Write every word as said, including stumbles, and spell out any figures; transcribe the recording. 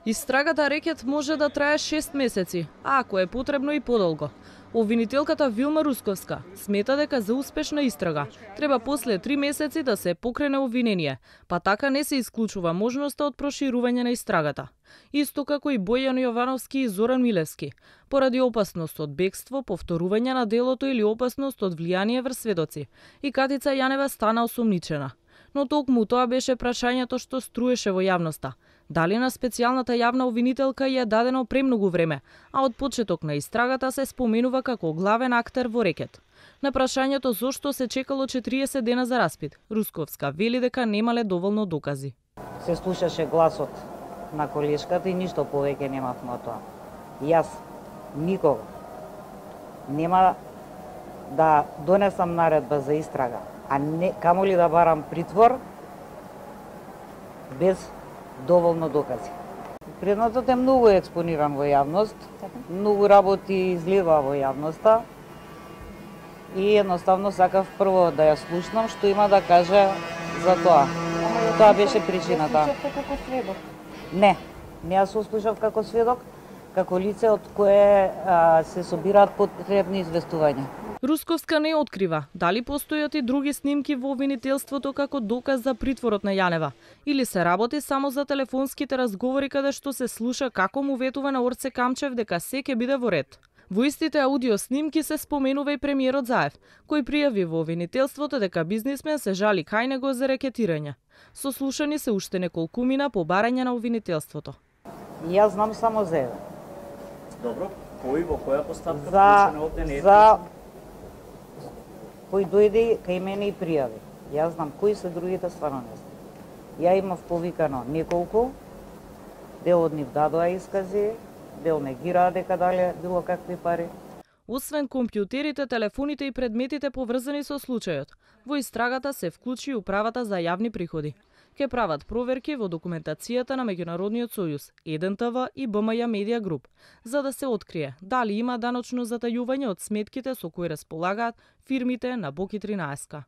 Истрагата рекет може да трае шест месеци, а ако е потребно и подолго. Обвинителката Вилма Русковска смета дека за успешна истрага треба после три месеци да се покрене обвинение, па така не се исклучува можноста од проширување на истрагата. Исто како и Бојан Јовановски и Зоран Милевски, поради опасност од бегство, повторување на делото или опасност од влијание врз сведоци. И Катица Јанева стана осомничена. Но токму тоа беше прашањето што струеше во јавноста. Дали на специјалната јавна обвинителка ја дадено премногу време, а од почеток на истрагата се споменува како главен актер во рекет. На прашањето зошто се чекало четириесет дена за распит, Русковска вели дека немале доволно докази. Се слушаше гласот на колешката и ништо повеќе немавме од тоа. Јас никога нема да донесам наредба за истрага, а не камоли да барам притвор без доволно докази. Предметот е многу експониран во јавност, многу работи излива во јавноста и едноставно сакав прво да ја слушнам што има да каже за тоа. Тоа беше причината. Како сведок? Не, не ја сослушав како сведок, како лице од кое а, се собираат потребни известувања. Русковска не открива дали постојат и други снимки во обвинителството како доказ за притворот на Јанева, или се работи само за телефонските разговори каде што се слуша како му ветува на Орце Камчев дека се ќе биде во ред. Во истите аудио снимки се споменува и премиерот Заев, кој пријави во обвинителството дека бизнисмен се жали кај него за рекетирање. Сослушани се уште неколкумина по барање на обвинителството. Јас знам само за еден. Добро, кој во која поставка за, вклучен овде не е? За кој дојде кај мене и пријави. Јас знам кои се другите, стварно не знам. Ја имав повикано неколку, дел од нив дадоа искази, дел негираа дека дале било какви пари. Освен компјутерите, телефоните и предметите поврзани со случајот, во истрагата се вклучи управата за јавни приходи. Ке прават проверки во документацијата на Меѓународниот сојуз, еден те ве и Б М Ј Медија Груп, за да се открие дали има даночно затајување од сметките со кои располагаат фирмите на Боки тринаесет.